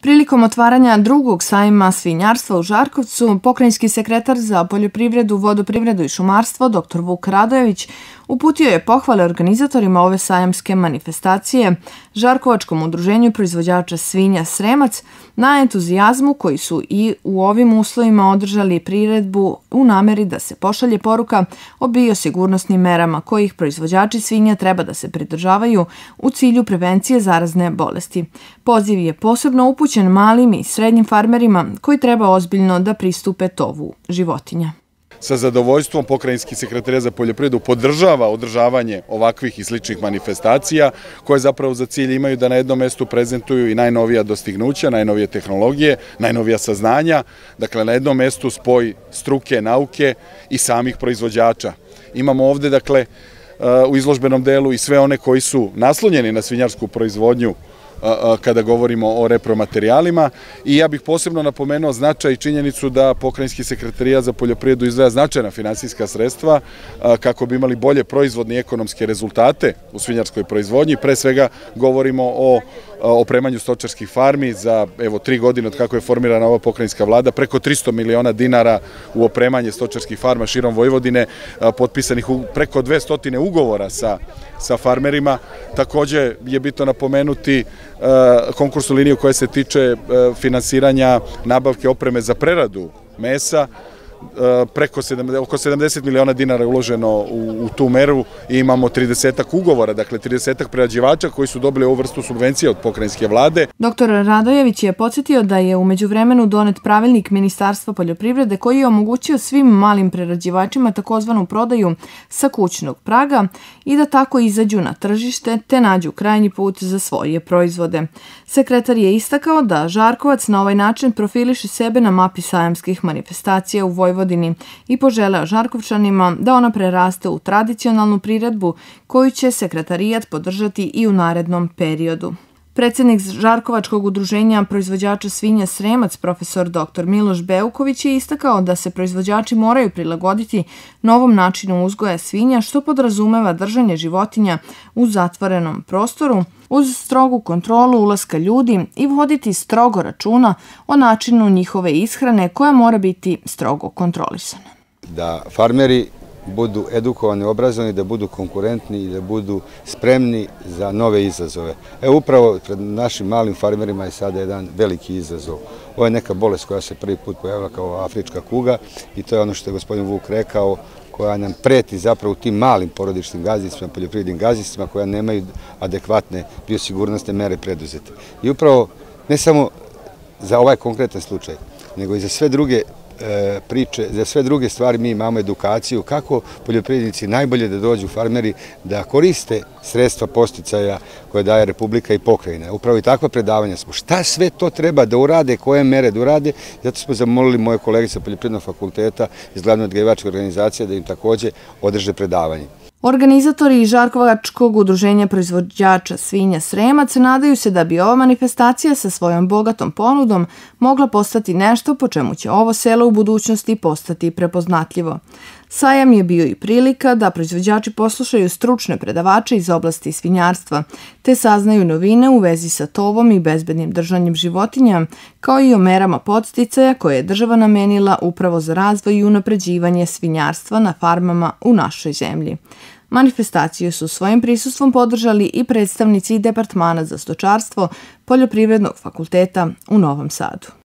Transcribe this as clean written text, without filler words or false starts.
Prilikom otvaranja drugog sajma svinjarstva u Žarkovcu, pokrajinski sekretar za poljoprivredu, vodoprivredu i šumarstvo dr. Vuk Radojević uputio je pohvale organizatorima ove sajamske manifestacije, Žarkovačkom udruženju proizvođača svinja Sremac, na entuzijazmu koji su i u ovim uslovima održali priredbu u nameri da se pošalje poruka o biosigurnosnim merama kojih proizvođači svinja treba da se pridržavaju u cilju prevencije zarazne bolesti. Poziv je posebno upućen malim i srednjim farmerima koji treba ozbiljno da pristupe tovu životinja. Sa zadovoljstvom Pokrajinski sekretarijat za poljoprivredu podržava održavanje ovakvih i sličnih manifestacija koje zapravo za cilj imaju da na jednom mestu prezentuju i najnovija dostignuća, najnovije tehnologije, najnovija saznanja. Dakle, na jednom mestu spoj struke, nauke i samih proizvođača. Imamo ovde, dakle, u izložbenom delu i sve one koji su naslonjeni na svinjarsku proizvodnju kada govorimo o repromaterijalima, i ja bih posebno napomenuo značaj i činjenicu da Pokrajinski sekretarijat za poljoprivredu izdvaja značajna finansijska sredstva kako bi imali bolje proizvodne i ekonomske rezultate u svinjarskoj proizvodnji. Pre svega govorimo o opremanju stočarskih farmi za 3 godine od kako je formirana ova pokrajinska vlada, preko 300 miliona dinara u opremanje stočarskih farma širom Vojvodine, potpisanih preko 200 ugovora sa farmerima. Takođe je bitno napomenuti konkursnu liniju koja se tiče finansiranja nabavke opreme za preradu mesa. Oko 70 miliona dinara je uloženo u tu meru i imamo 30 ugovora, dakle 30 prerađivača koji su dobili ovu vrstu subvencija od pokrajinske vlade. Dr. Radojević je podsjetio da je u međuvremenu donet pravilnik Ministarstva poljoprivrede koji je omogućio svim malim prerađivačima takozvanu prodaju sa kućnog praga i da tako izađu na tržište te nađu krajnji put za svoje proizvode. Sekretar je istakao da Žarkovac na ovaj način profiliše sebe na mapi sajamskih manifestacija u Vojvodini i poželeo Žarkovčanima da ona preraste u tradicionalnu priredbu koju će sekretarijat podržati i u narednom periodu. Predsjednik Žarkovačkog udruženja proizvođača svinja Sremac, profesor dr. Miloš Beuković, je istakao da se proizvođači moraju prilagoditi novom načinu uzgoja svinja, što podrazumeva držanje životinja u zatvorenom prostoru, uz strogu kontrolu ulaska ljudi i voditi strogo računa o načinu njihove ishrane koja mora biti strogo kontrolisana. Da farmeri budu edukovani, obrazovani, da budu konkurentni i da budu spremni za nove izazove. Upravo pred našim malim farmerima je sada jedan veliki izazov. Ovo je neka bolest koja se prvi put pojavila kao afrička kuga i to je ono što je gospodin Vuk rekao, koja nam preti zapravo u tim malim porodičnim gazdinstvima, poljoprivrednim gazdinstvima koja nemaju adekvatne biosigurnosne mere preduzete. I upravo ne samo za ovaj konkretan slučaj, nego i za sve druge priče, za sve druge stvari mi imamo edukaciju kako poljoprivrednici najbolje da dođu farmeri da koriste sredstva podsticaja koje daje Republika i pokrajina. Upravo i takva predavanja smo. Šta sve to treba da urade, koje mere da urade, zato smo zamolili moje kolege sa Poljoprivrednog fakulteta iz Glavne odgajivačke organizacije da im takođe održe predavanje. Organizatori Žarkovačkog udruženja proizvođača svinja Sremac nadaju se da bi ova manifestacija sa svojom bogatom ponudom mogla postati nešto po čemu će ovo selo u budućnosti postati prepoznatljivo. Sajam je bio i prilika da proizvođači poslušaju stručne predavače iz oblasti svinjarstva, te saznaju novine u vezi sa tovom i bezbednim držanjem životinja, kao i o merama podsticaja koje je država namenila upravo za razvoj i unapređivanje svinjarstva na farmama u našoj zemlji. Manifestaciju su svojim prisustvom podržali i predstavnici Departmana za stočarstvo Poljoprivrednog fakulteta u Novom Sadu.